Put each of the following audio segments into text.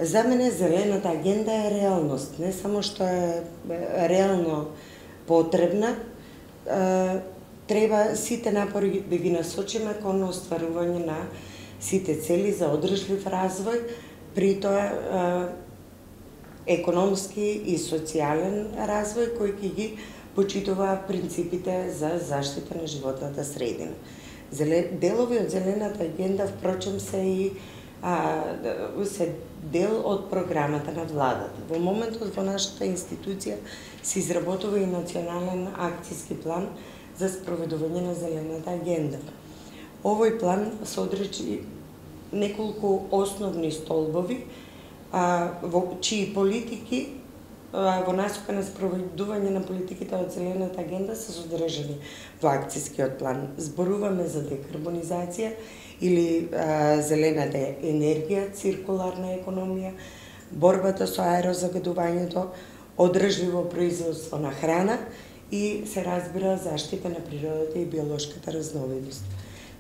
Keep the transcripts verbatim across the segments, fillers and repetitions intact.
За мене зелената агенда е реалност, не само што е реално потребна, треба сите напори да ги насочиме кон остварување на сите цели за одржлив развој, при тоа економски и социјален развој кој ќе ги почитува принципите за заштита на животната средина. Делови од зелената агенда, впрочем, се и а, се дел од програмата на владата. Во моментот во нашата институција се изработува и национален акцијски план за спроведување на зелената агенда. Овој план содржи неколку основни столбови, а, во чии политики а, во насока на спроведување на политиките од зелената агенда се содржани во акцијскиот план. Зборуваме за декарбонизација или а, зелената енергија, циркуларна економија, борбата со аерозагадувањето, одржливо производство на храна и се разбира заштита на природата и биолошката разновидност.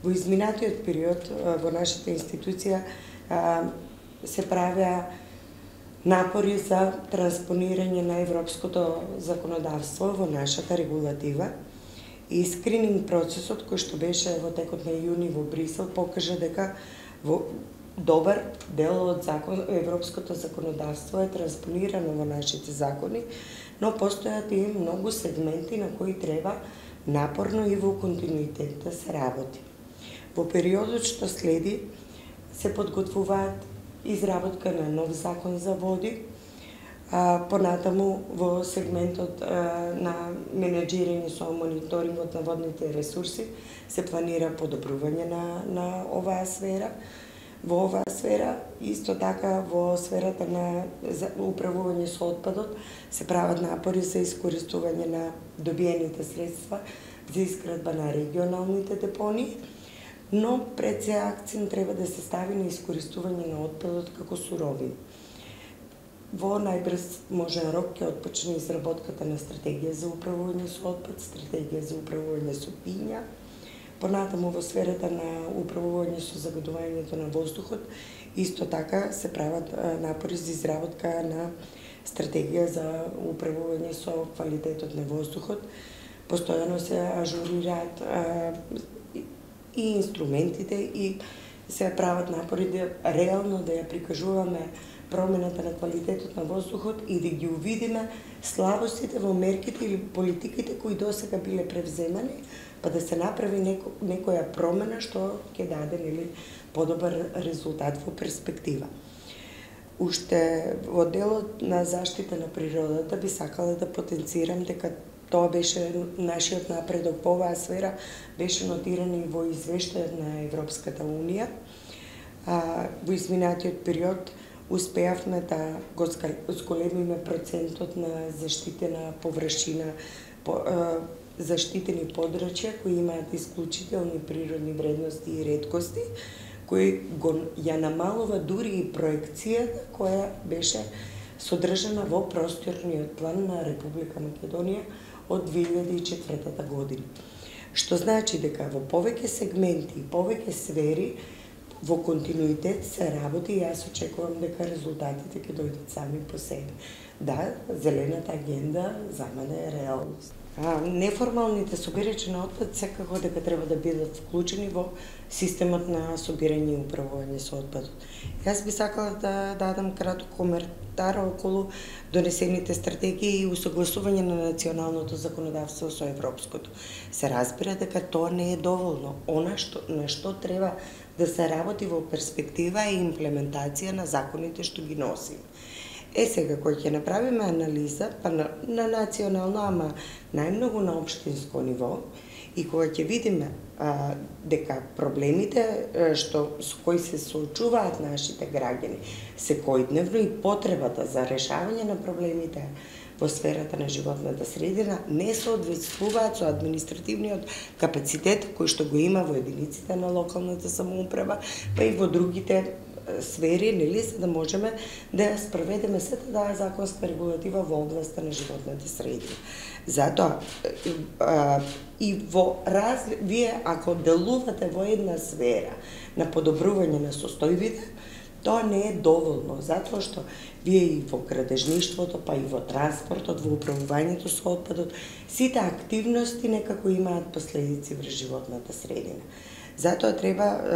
Во изминатиот период во нашата институција а, се правеа напори за транспонирање на европското законодавство во нашата регулатива и скрининг процесот кој што беше во текот на јуни во Брисел покажа дека во добар дел од закон, европското законодавство е транспонирано во нашите закони, но постојат и многу сегменти на кои треба напорно и во континуитет да се работи. Во периодот што следи се подготвуваат изработка на нов закон за води, а, понатаму во сегментот а, на менеджирање со мониторингот на водните ресурси се планира подобрување на, на оваа сфера. Во оваа сфера, исто така во сферата на управување со отпадот, се прават напори за искористување на добиените средства за изградба на регионалните депонии, но пред се акцент треба да се стави на искористување на отпадот како суровина. Во најбрз можен рок ќе отпочне изработката на стратегија за управување со отпад, стратегија за управување со пиња. Понатаму во сферата на управување со загадувањето на воздухот, исто така се прават напори за изработка на стратегија за управување со квалитетот на воздухот. Постојано се ажурираат и инструментите и се прават напори да реално да ја прикажуваме промената на квалитетот на воздухот и да ги увидиме слабостите во мерките или политиките кои досега биле превземани, па да се направи неко, некоја промена што ќе даде нели подобар резултат во перспектива. Уште во делот на заштита на природата би сакала да потенцирам дека тоа беше нашиот напредок во оваа сфера, беше нотиран и во извештајот на Европската Унија. А, во изминатиот период успеавме да го зголемиме процентот на заштитена површина, по, а, заштитени подрачја кои имаат исклучителни природни вредности и реткости, кои го ја намалува дури и проекцијата која беше содржана во просторниот план на Република Македонија од две илјади и четвртата година. Што значи дека во повеќе сегменти и повеќе сфери во континуитет се работи и јас очекувам дека резултатите ќе дојдат сами по себе. Да, зелената агенда за мене е реалност. А, неформалните собирачи на отпад секако дека треба да бидат вклучени во системот на собирање и управување со отпадот. Јас би сакала да дадам краток коментар околу донесените стратегии и усогласување на националното законодавство со европското. Се разбира дека тоа не е доволно. Она што, на што треба да се работи во перспектива е имплементација на законите што ги носиме. Е сега, кој ќе направиме анализа, па на, на национално, ама најмногу на општинско ниво, и кога ќе видиме а, дека проблемите а, што, со кои се соочуваат нашите граѓани секојдневно и потребата за решавање на проблемите во сферата на животната средина не соодветствуваат со административниот капацитет кој што го има во единиците на локалната самоуправа, па и во другите сфери, нели, за да можеме да ја спроведеме сета таа законска регулатива во областа на животната средина. Затоа а, и во разли... вие ако делувате во една сфера на подобрување на состојбите, Тоа не е доволно, затоа што вие и во градежништвото, па и во транспортот, во управувањето со отпадот, сите активности некако имаат последици врз животната средина. Затоа треба е,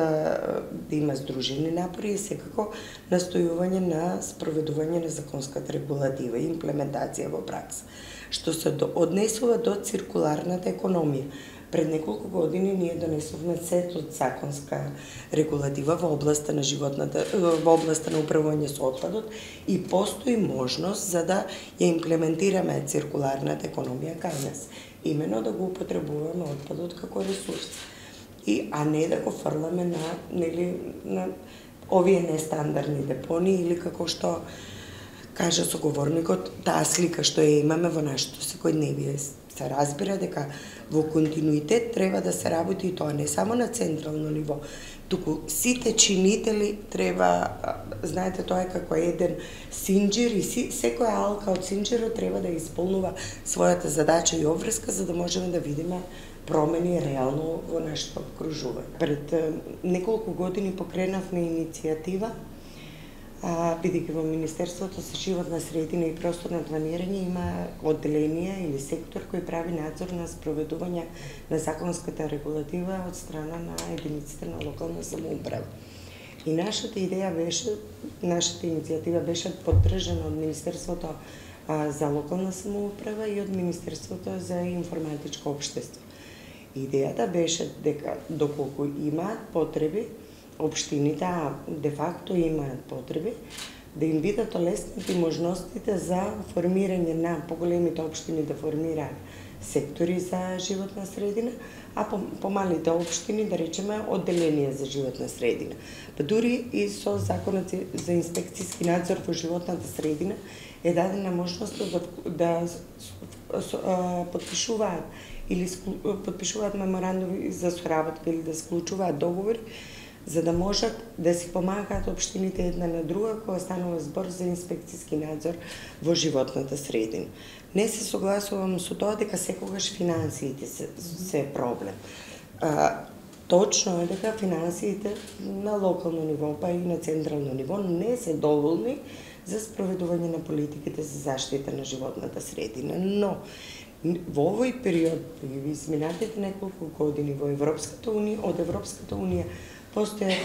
да има здружени напори и секако настојување на спроведување на законската регулатива и имплементација во пракса, што се однесува до циркуларната економија. Пред неколку години ние донесовме сет од законска регулатива во областа на животната во областа на управување со отпадот и постои можност за да ја имплементираме циркуларната економија кај нас, имено да го употребуваме отпадот како ресурс. И а не да го фрламе на нели на овие нестандардни депони или како што кажа соговорникот, таа слика што ја имаме во нашето секојдневие. Се разбира дека во континуитет треба да се работи и тоа не само на централно ниво, туку сите чинители треба, знаете, тоа е како еден синџир и си, секоја алка од синџирот треба да исполнува својата задача и обврска за да можеме да видиме промени реално во нашето окружување. Пред неколку години покренавме иницијатива, бидејќи во Министерството за животна средина и просторно планирање има одделение или сектор кој прави надзор на спроведување на законската регулатива од страна на единиците на локална самоуправа. И нашата идеја беше, нашата иницијатива беше поддржана од Министерството за локална самоуправа и од Министерството за информатичко општество. Идејата беше дека доколку имаат потреби, општините, а де факто имаат потреби, да им бидат олеснати можностите за формирање на поголемите општини да формираат сектори за животна средина, а помалите општини, да речеме, одделение за животна средина. Па дури и со законот за инспекцијски надзор во животната средина е дадена можност да, да подпишуваат или подпишуваат меморандуми за соработка или да склучуваат договори, за да можат да си помагаат општините една на друга кога станува збор за инспекцијски надзор во животната средина. Не се согласувам со тоа дека секогаш финансиите се, се проблем. А, точно е дека финансиите на локално ниво, па и на централно ниво не се доволни за спроведување на политиките за заштита на животната средина, но во овој период, во изминатите неколку години во Европската унија, од Европската унија постојат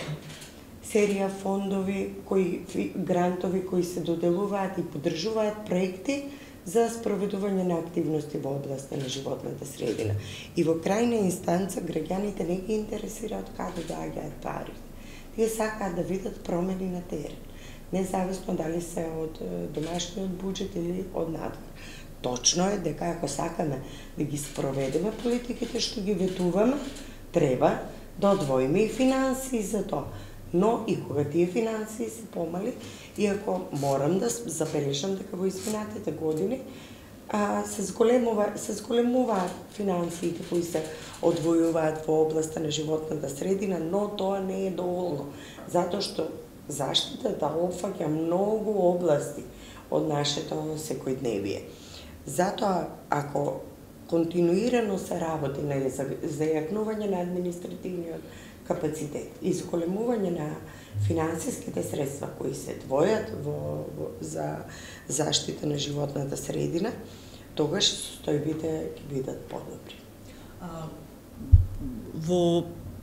серија фондови, кои, грантови кои се доделуваат и поддржуваат проекти за спроведување на активности во областа на животната средина. И во крајна инстанца граѓаните не ги интересираат каде доаѓаат парите. Тие сакаат да видат промени на терен, независно дали се од домашниот буџет или од надвор. Точно е дека ако сакаме да ги спроведеме политиките што ги ветуваме, треба да одвоиме и финансии за тоа. Но и кога тие финансии се помали, иако морам да забележам дека во изминатите години а, се зголемува, се зголемуваат финансиите кои се одвојуваат во областа на животната средина, но тоа не е доволно, затоа што заштитата опфаќа многу области од нашето секојдневие. Затоа, ако континуирано се работи на зајакнување на административниот капацитет и зголемување на финансиските средства кои се двојат во, во, за заштита на животната средина, тогаш состојбите ќе бидат подобри. Во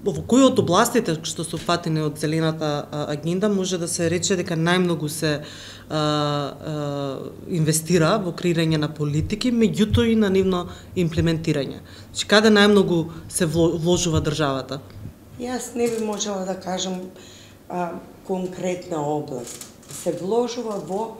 Во кои од областите што се опфатени од зелената агенда може да се рече дека најмногу се а, а, инвестира во креирање на политики, меѓутоа и на нивно имплементирање? Значи, каде најмногу се вложува државата? Јас не би можела да кажам а, конкретна област. Се вложува во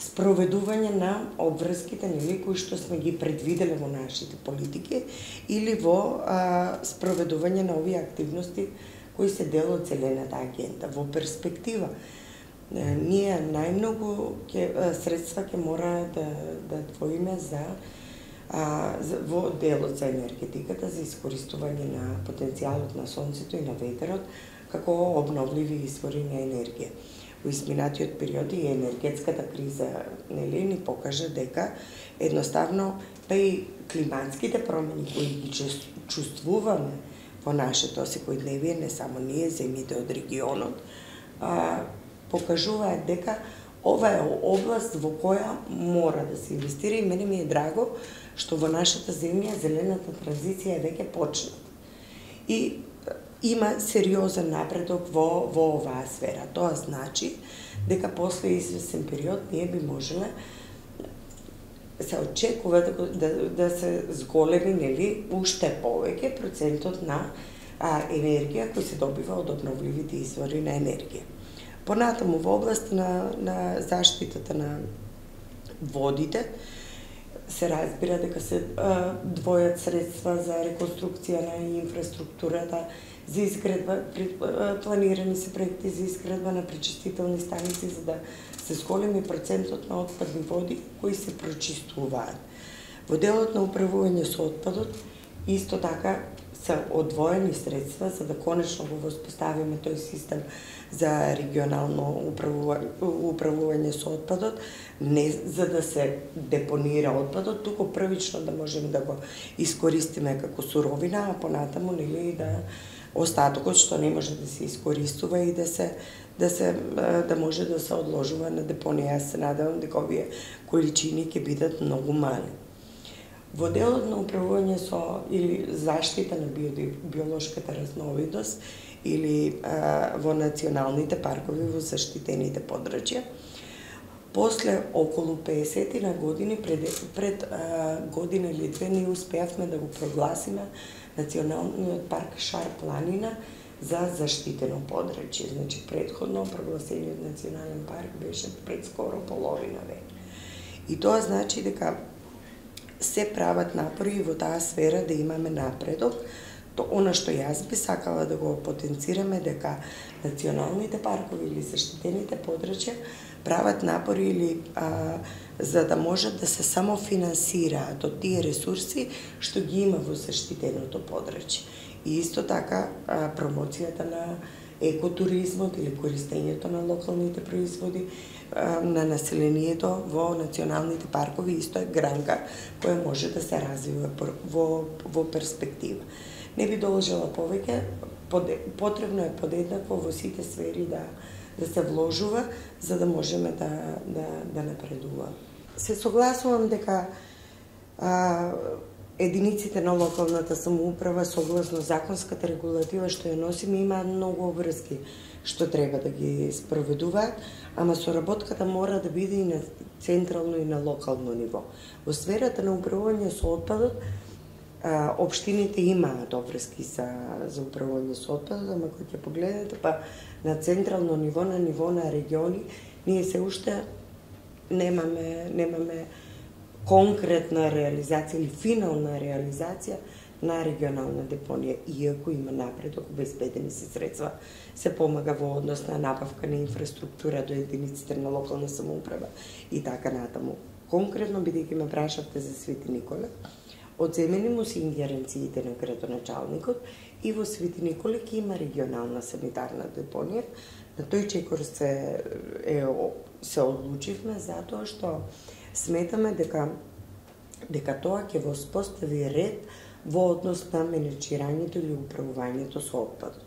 спроведување на обврските нели кои што сме ги предвиделе во нашите политики или во а, спроведување на овие активности кои се дел од зелената агенда. Во перспектива ние најмногу ке, средства ќе мора да да двоиме за а, за, во делот за енергетиката, за искористување на потенцијалот на сонцето и на ветерот како обновливи извори на енергија. Во изминатиот период и енергетската криза нели ни покажа дека едноставно па и климатските промени кои ги чувствуваме во нашето секојдневие, не само ние, земјите од регионот, а, покажуваат дека ова е област во која мора да се инвестира и мене ми е драго што во нашата земја зелената транзиција е веќе почната. И има сериозен напредок во, во оваа сфера. Тоа значи дека после известен период ние би можеле се очекува да, да, да се зголеми, нели, уште повеќе процентот на а, енергија кој се добива од обновливите извори на енергија. Понатаму во област на, на заштитата на водите се разбира дека се а, двојат средства за реконструкција на инфраструктурата, за изградба, планирани се проекти за изградба на пречистителни станици за да се зголеми процентот на отпадни води кои се прочистуваат. Во делот на управување со отпадот исто така се одвоени средства за да конечно го воспоставиме тој систем за регионално управување, управување со отпадот, не за да се депонира отпадот, туку првично да можеме да го искористиме како суровина, а понатаму нели да остатокот што не може да се искористува и да се да се да може да се одложува на депонија. Јас се надевам дека овие количини ќе бидат многу мали. Во делот на управување со или заштита на биолошката разновидност или а, во националните паркови во заштитените подрачја, после околу песет на години пред, пред а, година или две ние успеавме да го прогласиме Националниот парк Шар планина за заштитено подрачје. Значи, предходно прогласениот национален парк беше пред скоро половина век. И тоа значи дека се прават напори во таа сфера да имаме напредок. То она што јас би сакала да го потенцираме дека националните паркови или заштитените подрачја прават напори или а, за да можат да се самофинансираат од тие ресурси што ги има во заштитеното подрачје. И исто така а, промоцијата на екотуризмот или користењето на локалните производи а, на населението во националните паркови исто е гранка која може да се развива во, во перспектива. Не би должела повеќе, потребно е подеднакво во сите сфери да да се вложува за да можеме да да да напредуваме. Се согласувам дека а, единиците на локалната самоуправа согласно законската регулатива што ја носиме имаат многу обврски што треба да ги спроведуваат, ама соработката мора да биде и на централно и на локално ниво. Во сферата на управување со отпадот а, општините имаат обврски за за управување со отпадот, ама кога ќе погледнете па на централно ниво, на ниво на региони, ние се уште немаме немаме конкретна реализација или финална реализација на регионална депонија, иако има напредок, обезбедени се средства, се помага во однос на набавка на инфраструктура до единиците на локална самоуправа и така натаму. Конкретно, бидејќи ме прашавте за Свети Николе, одземени му се ингеренциите на градоначалникот и во Свети Николе ќе има регионална санитарна депонија. На тој чекор се, е, се одлучивме затоа што сметаме дека дека тоа ќе воспостави ред во однос на менеджирањето или управувањето со отпадот.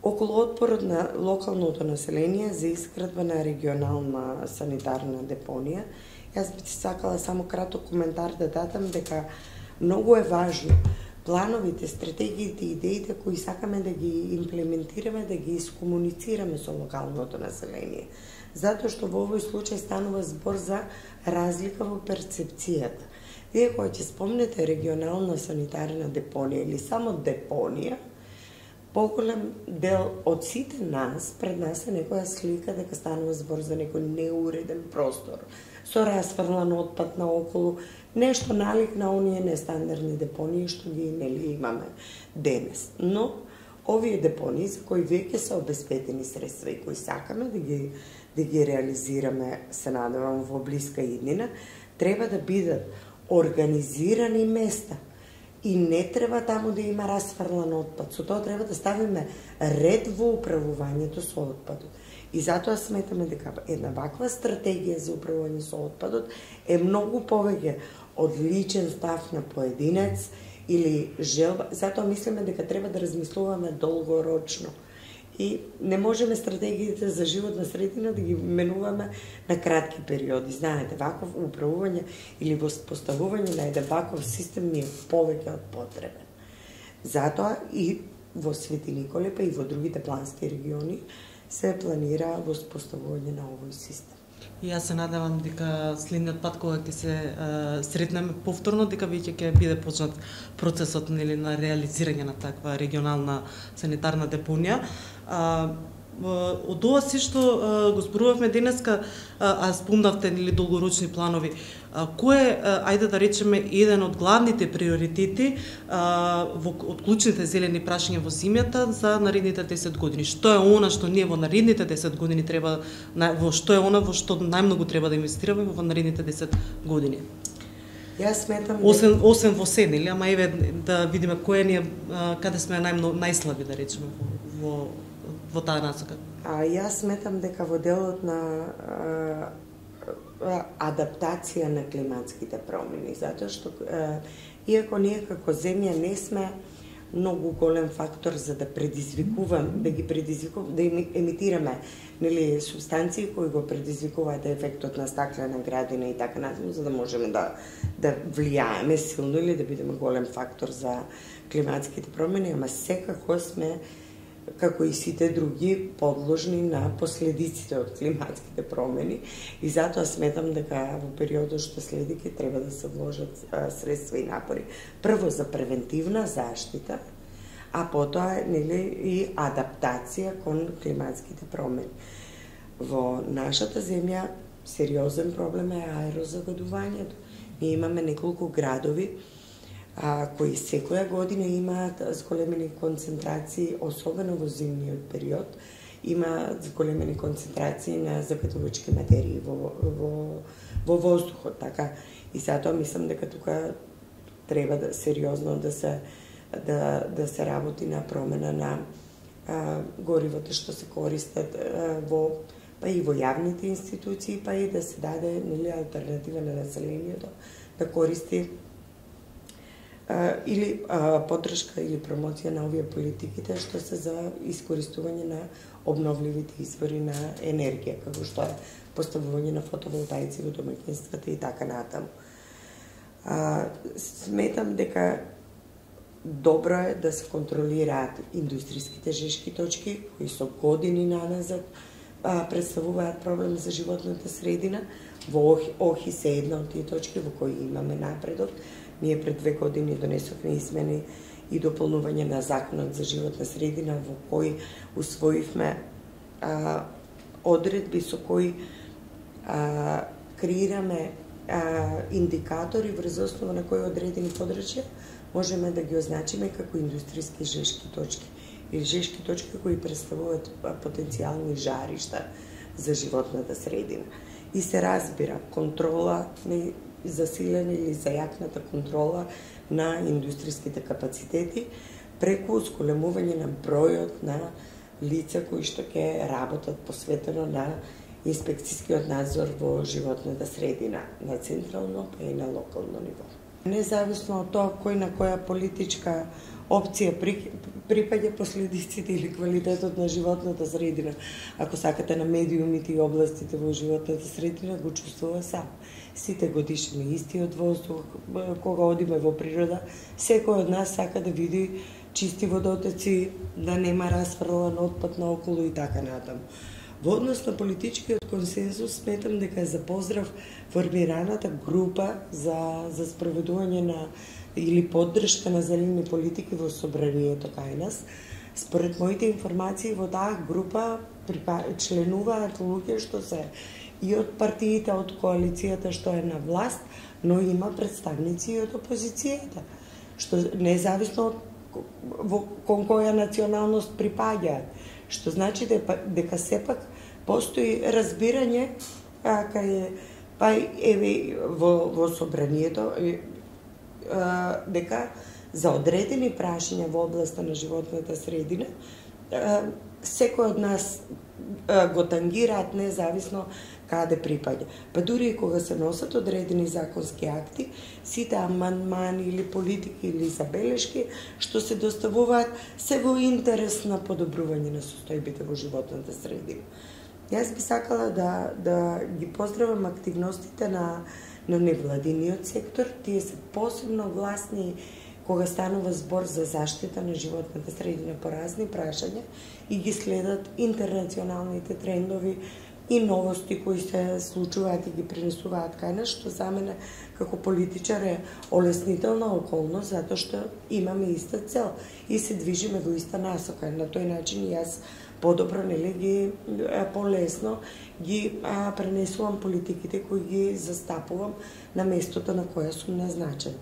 Околу отпорот на локалното население за изградба на регионална санитарна депонија, јас би сакала само краток коментар да дадам дека многу е важно плановите, стратегиите, идеите кои сакаме да ги имплементираме, да ги искомуницираме со локалното население. Затоа што во овој случај станува збор за разлика во перцепцијата. Вие кога ќе спомнете регионална санитарна депонија или само депонија, поголем дел од сите нас, пред нас е некоја слика дека станува збор за некој неуреден простор, со расфрлан отпад наоколу, нешто налик на оние нестандардни депонии што ги нели имаме денес. Но овие депонии за кои веќе се обезбедени средства и кои сакаме да ги да ги реализираме, се надевам во блиска иднина, треба да бидат организирани места. И не треба таму да има расфрлан отпад. Со тоа треба да ставиме ред во управувањето со отпадот. И затоа сметаме дека една ваква стратегија за управување со отпадот е многу повеќе од личен став на поединец или желба. Затоа мислиме дека треба да размислуваме долгорочно. И не можеме стратегиите за животна средина да ги менуваме на кратки периоди. Знаете, ваков управување или поставување на еден ваков систем ни е повеќе од потребен. Затоа и во Свети Николе, па и во другите плански региони се планира воспоставување на овој систем. И јас се надевам дека следниот пат кога ќе се а, сретнеме повторно, дека веќе ќе биде почнат процесот нели на реализирање на таква регионална санитарна депонија. А, од ова се што а, го зборувавме денеска, а, а спомнавте нели долгорочни планови, а, кој е, ајде да речеме, еден од главните приоритети а, во, од клучните зелени прашања во земјата за наредните десет години? Што е она што ние во наредните десет години треба, во што е она во што најмногу треба да инвестираме во наредните десет години? Јас сметам освен дека... освен во се, нели, ама еве да видиме кој е ние, каде сме најмногу најслаби, да речеме, во, во во таа насока. А јас сметам дека во делот на а, адаптација на климатските промени, затоа што а, иако ние како земја не сме многу голем фактор за да предизвикувам, да ги предизвикувам, да емитираме нели субстанции кои го предизвикуваат ефектот на стаклена градина и така натаму, за да можеме да да влијаеме силно или да бидеме голем фактор за климатските промени, ама секако сме како и сите други подложни на последиците од климатските промени и затоа сметам дека во периодот што следи ќе треба да се вложат а, средства и напори прво за превентивна заштита, а потоа нели и адаптација кон климатските промени. Во нашата земја сериозен проблем е аерозагадувањето. Ние имаме неколку градови а, кои секоја година имаат зголемени концентрации, особено во зимниот период, има зголемени концентрации на загадувачки материи во, во, во воздухот, така. И затоа мислам дека тука треба да сериозно да се да да се работи на промена на а, горивото што се користат а, во па и во јавните институции, па и да се даде нели алтернатива на населението да користи а, или а, поддршка или промоција на овие политиките што се за искористување на обновливите извори на енергија, како што е поставување на фотоволтаици во домаќинствата и така натаму. А, сметам дека добро е да се контролираат индустријските жешки точки, кои со години наназад а, представуваат проблем за животната средина. Во Охи се една од тие точки во кои имаме напредок. Ние пред две години донесовме измени и дополнување на Законот за животна средина, во кој усвоивме а, одредби со кои а, креираме а, индикатори врз основа на кои одредени подрачја можеме да ги означиме како индустријски жешки точки или жешки точки кои представуваат потенцијални жаришта за животната средина. И се разбира контрола, засилена или зајакната контрола на индустријските капацитети преку зголемување на бројот на лица кои што ќе работат посветено на инспекцијскиот надзор во животната средина на централно па и на локално ниво. Независно од тоа кој на која политичка опција припаѓа последиците или квалитетот на животната средина, ако сакате на медиумите и областите во животната средина, го чувствува сам. Сите годишни истиот воздух, кога одиме во природа, секој од нас сака да види чисти водотоци, да нема расфрлан отпад наоколу и така натаму. Во однос на политичкиот консензус, сметам дека е за поздрав формираната група за, за спроведување на или поддршка на зелени политики во собранието кај нас. Според моите информации, во таа група членуваат луѓе што се и од партиите од коалицијата што е на власт, но има представници и од опозицијата, што независно од во кон која националност припаѓаат, што значи дека сепак постои разбирање а, кај па еве во во собранието а, дека за одредени прашања во областа на животната средина а, секој од нас го тангираат независно каде припаѓа. Па дури и кога се носат одредени законски акти, сите амандмани или политики или забелешки што се доставуваат се во интерес на подобрување на состојбите во животната средина. Јас би сакала да да ги поздравам активностите на на невладиниот сектор. Тие се посебно гласни кога станува збор за заштита на животната средина по разни прашања и ги следат интернационалните трендови и новости кои се случуваат и ги пренесуваат кај нас, што за мене како политичар е олеснителна околност, затоа што имаме иста цел и се движиме во иста насока. На тој начин јас подобро, нели, ги полесно ги а, пренесувам политиките кои ги застапувам на местото на кое сум назначен.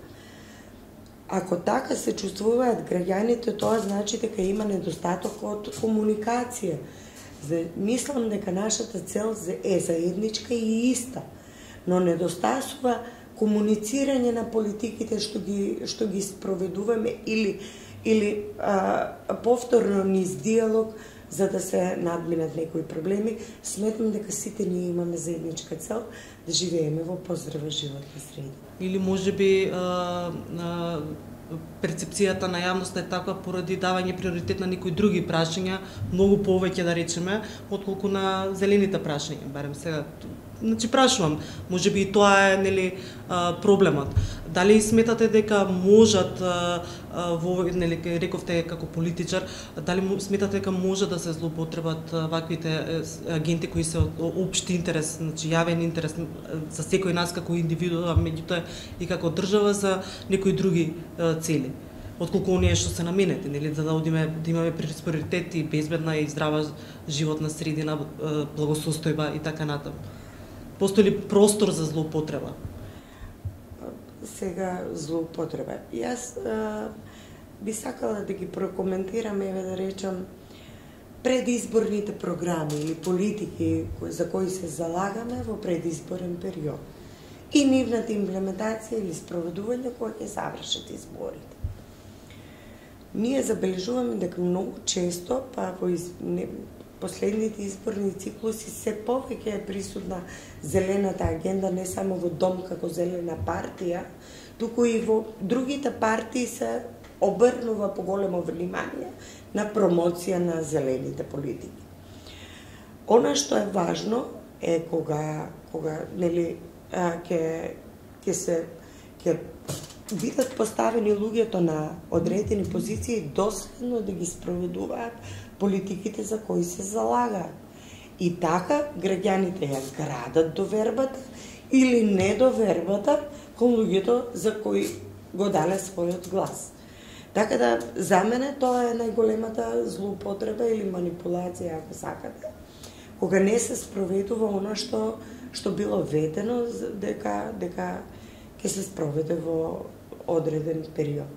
Ако така се чувствуваат граѓаните, тоа значи дека има недостаток од комуникација. Мислам дека нашата цел е заедничка и иста, но недостасува комуницирање на политиките што ги што ги спроведуваме или или а, повторно низ диалог за да се надминат некои проблеми. Сметам дека сите ние имаме заедничка цел да живееме во поздрава животна средина. Или можеби а, а, перцепцијата на јавноста е таква поради давање приоритет на некои други прашања, многу повеќе да речеме, отколку на зелените прашања, барем сега. Значи прашувам, можеби и тоа е, нели, проблемот. Дали сметате дека можат во, нели, рековте како политичар, дали сметате дека може да се злоупотребат ваквите агенти кои се општи интерес, значи јавен интерес за секој нас како индивидуа, меѓутоа и како држава за некои други цели, отколку оние што се наменети, нели, за да одиме да имаме приоритет и безбедна и здрава животна средина, благосостојба и така натаму. Постои ли простор за злоупотреба? Сега злоупотреба. Јас а, би сакала да ги прокоментирам, еве да речам, предизборните програми или политики за кои се залагаме во предизборен период и нивната имплементација или спроведување кога ќе завршат изборите. Ние забележуваме дека многу често, па во из... не, последните изборни циклуси се повеќе е присутна зелената агенда не само во Дом како зелена партија, туку и во другите партии се обрнува поголемо внимание на промоција на зелените политики. Она што е важно е кога кога нели ќе ќе се ќе бидат поставени луѓето на одредени позиции доследно да ги спроведуваат политиките за кои се залагаат. И така граѓаните ја градат довербата или недовербата кон луѓето за кои го дале својот глас. Така да, за мене тоа е најголемата злоупотреба или манипулација, ако сакате, кога не се спроведува она што што било ветено дека дека ќе се спроведе во одреден период.